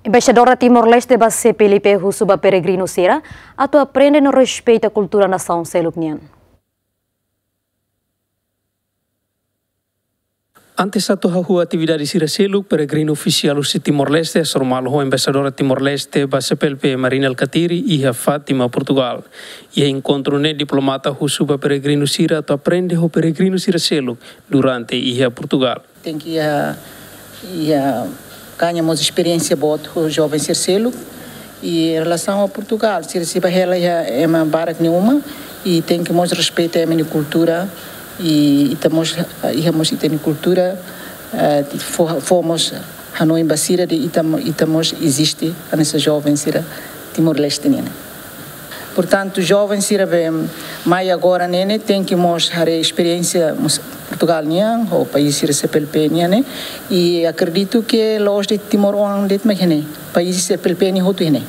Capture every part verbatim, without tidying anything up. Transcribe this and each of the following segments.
Embaixadora Timor-Leste ba C P L P husu ba peregrinu sira atu aprende no respeita kultura nasaun seluk nian. Antes atu hahú atividade sira seluk, peregrinu ofisiál husi Timor-Leste hasoru malu ho Embaixadora Timor-Leste ba C P L P, Marina Alkatiri, iha Fátima, Portugal. Iha enkontru ne'e, diplomata husu ba peregrinu sira atu aprende ho peregrinu sira seluk durante iha Portugal. Tenke iha, iha gaña mós esperiénsia boot ho joven sira seluk. I relasaun a Portugal, sira sei bá hela iha ema barak nia uma, i tenke mós respeita ema nia kultura, i ita mós, iha mós ita-nia kultura, eh, fó, fó mós hanoin ba sira dehan ita mo-, ita mós eziste, hanesan joven sira Timor-Leste nian. Portantu, joven sira be mai agora ne'e ne'e, tenke mós haree esperiénsia mós Portugal nian, ho país sira C P L P nian ne'e, i akredita ke la'ós de'it Timor oan de'it mak iha ne'e, país C P L P nian hotu iha ne'e.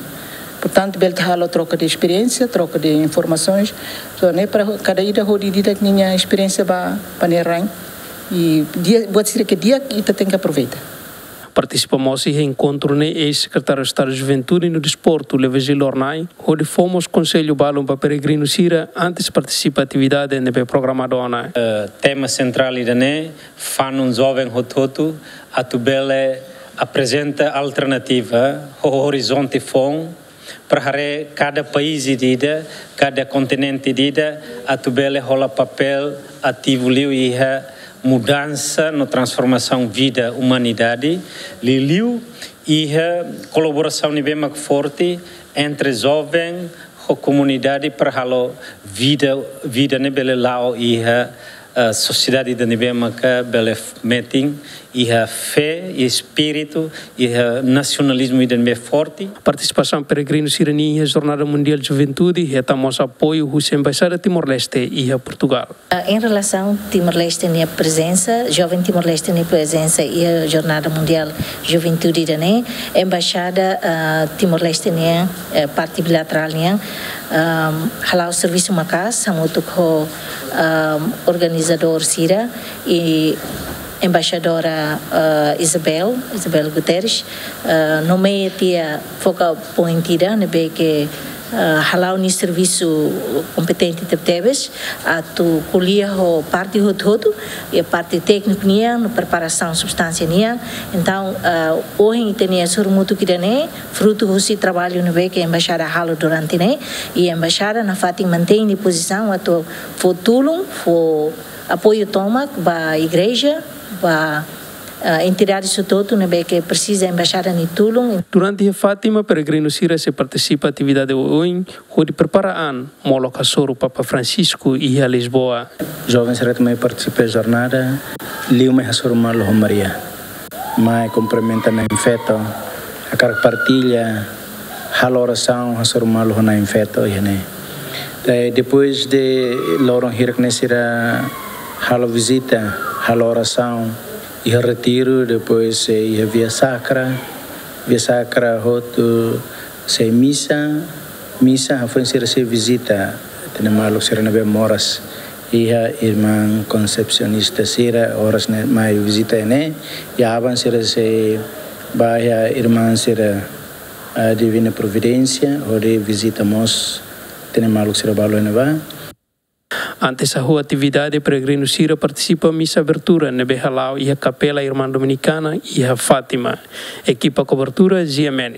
Portantu, bele ita halo troka de esperiénsia, troka de informasoens, so ne'e para kada ida hodi ida-idak nia esperiénsia ba, ba nia rain, i di'ak, buat sira ke di'ak ita tenke aproveita. Partisipa mós iha enkontru ne'e eis-Sekretáriu Estadu Juventude no Desportu, Leovigildo Hornai, hodi fó mós konsellu balun ba peregrinu sira antes partisipa atividade ne'ebé programadu ona. Eh, tema sentrál ida-ne'e, fanun joven hotu-hotu, atu bele aprezenta alternativa, ho orizonte foun, para haree kada país ida-idak, kada kontinente ida-idak, atu bele hola papél ativu liu iha mudansa no transformasaun vida umanidade, liuliu iha kolaborasaun ne'ebé mak forte entre joven ho komunidade para halo vida, vida ne'e bele la'o iha, eh, sosiedade ida ne'ebé maka bele f-, metin iha fé, iha espíritu, iha nasionalizmu ida ne'ebé forte. Partisipasaun peregrinu sira-nian iha Jornada Mundiál Juventude hetan mós apoiu husi Embaixada Timor-Leste iha Portugal. Ah, em relação Timor-Leste nia prezensa, joven Timor-Leste nia prezensa iha Jornada Mundiál Juventude ida-ne'e, Embaixada, ah, Timor-Leste nia, eh, parte bilaterál nian, ah, hala'o servisu maka'as hamutuk ho, ah, organizadór sira i Embaixadora, ah, Isabel, Isabel Guterres, ah, nomeia tiha focal point ida ne'ebé ke, ah, hala'o nia servisu kompetente tebetebes, atu ko'alia ho parte hotu-hotu, iha parte tékniku nian, no preparasaun substánsia nian. Entaun, ah, ohin ita-nia sorumutu ida-ne'e, frutu husi traballu ne'ebé ke Embaixada halo durante ne'e, i Embaixada nafatin mantein nia pozisaun atu fó tulun, fó apoiu tomak ba igreja, ba, ah, entidade hotu-hotu ne'ebé ke presiza Embaixada nia tulun. Durante iha Fátima, peregrinu sira sei partisipa atividade oioin, hodi prepara an molok hasoru Papa Francisco iha Lisboa. Joven sira mai partisipa jornada, liu mai hasoru malu ho Maria. Mai kumprimenta Na'in Feto, hakarak partilla, halo orasaun, hasoru malu ho Na'in Feto iha ne'e. Daí, depois de loron hirak ne'e sira halo vizita, halo orasaun, iha retiru, depois, eh, iha Via Sacra, Via Sacra hotu sei misa, misa hafoin sira sei vizita ita-nia maluk sira ne'ebé moras iha irmaun konsepsionista sira, oras ne'e mai vizita ne'e, i aban sira sei bá iha irmaun sira, ah, Divina Providência, hodi vizita mós ita-nia maluk sira balu ne'ebá. Antes hahú atividade, peregrinu sira partisipa misa abertura ne'ebé hala'o iha Kapela Irmã Dominicana iha Fátima. Ekipa kobertura, G M N.